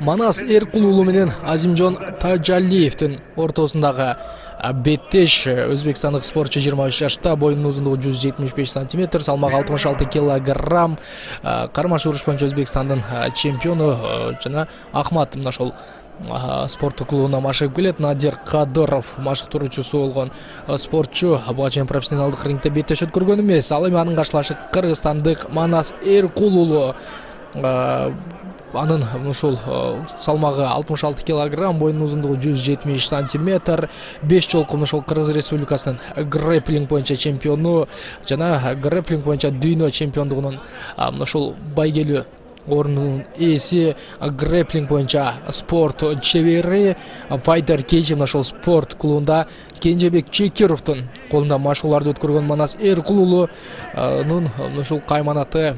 Манас Эркул уулу менен Азимжон Тажалиевдин ортосундагы беттеш өзбекстандык спортчу 23 жашта, боюнун узундугу 175 см, салмагы 66 кг. Кармаш уруш боюнча Өзбекстандын чемпиону жана Ахмат мына ошол спорттук клубуна машыгып келет. Надир Кадыров машыктыруучусу болгон спортчу буга чейин профессионалдык рингде беттеш өткөргөн эмес. Ал эми анын каршылашы кыргызстандык Манас Эркул уулу. Анын ушул салмагы 66 кг, боюнун узундугу 170 см, 5 жолку ошол Кыргыз Республикасынын грэпплинг боюнча чемпиону жана грэпплинг боюнча дүйнө чемпиондугунун ушул байгелүү орнунун ээси, грэпплинг боюнча спорт чебери, файтер кейжи ошол спорт клубунда Кенжебек Чекировдун колунда машыгууларды өткөргөн Манас Эркул уулунун ушул кайманаты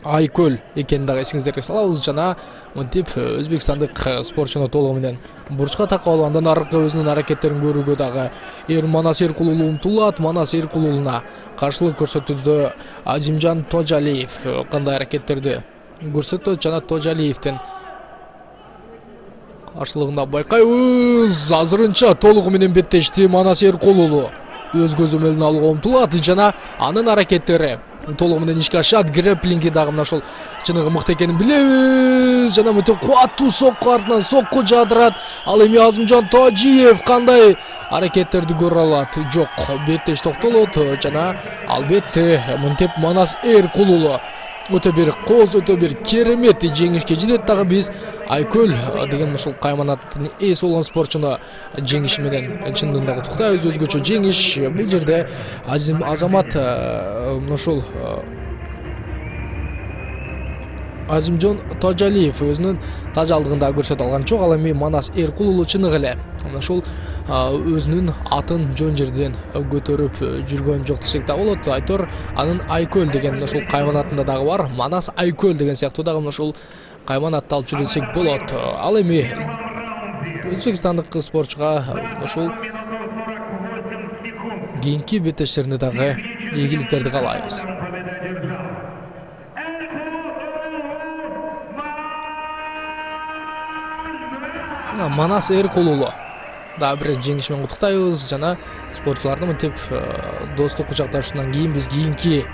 Айкөл экенин дагы эсиңиздерге салабыз. Жана мынтип өзбекстандык спортчуну толугу менен бурчка такап алып, андан аркы өзүнүн аракеттерин көрүүгө дагы Манас Эркул уулу умтулат. Манас Эркул уулуна каршылык көрсөтүүдө Азимжон Тажалиев кандай аракеттерди көрсөтөт жана Тажалиевдин каршылыгында байкайбыз. Азырынча толугу менен беттешти Манас Эркул уулу өз көзөмөлүн алууга умтулат жана анын аракеттери толугу менен ишке ашат. Грэпплинги дагы мына ошол чыныгы мыкты экенин билебиз. Жана мынтип кубаттуу сокку артынан сокку жаадырат. Ал эми Азимжон Тажиев кандай аракеттерди көрө алат? Жок, беттеш токтолот жана албетте мынтип Манас Эркул уулу өтө бир кооз, өтө бир керемет жеңишке жетет. Дагы биз Айкөл деген ушул кайманаттын ээси болгон спортчуну жеңиши менен чындыгында дагы куттуктайбыз. Өзгөчө жеңиш. Бул жерде Азамат ушул Азимжон Тажалиев өзүнүн тажалдыгында көрсөтө алган жок. Ал эми Манас Эркул уулу чыныгы эле ушул өзүнүн атын жөн жерден көтөрүп жүргөн жок десек да болот. Айтор анын Айкөл деген ушул кайманатында дагы бар. Манас Айкөл деген сыяктуу дагы ушул кайманатты алып жүрө десек болот. Ал эми өзбекстандык спортчуга ушул кийинки беттештеринде дагы ийгиликтерди каалайбыз. Манас Эркул уулу дагы бир жеңиш менен куттуктайбыз жана спортчуларды мынтип достук кучакташуудан кийин биз кийинки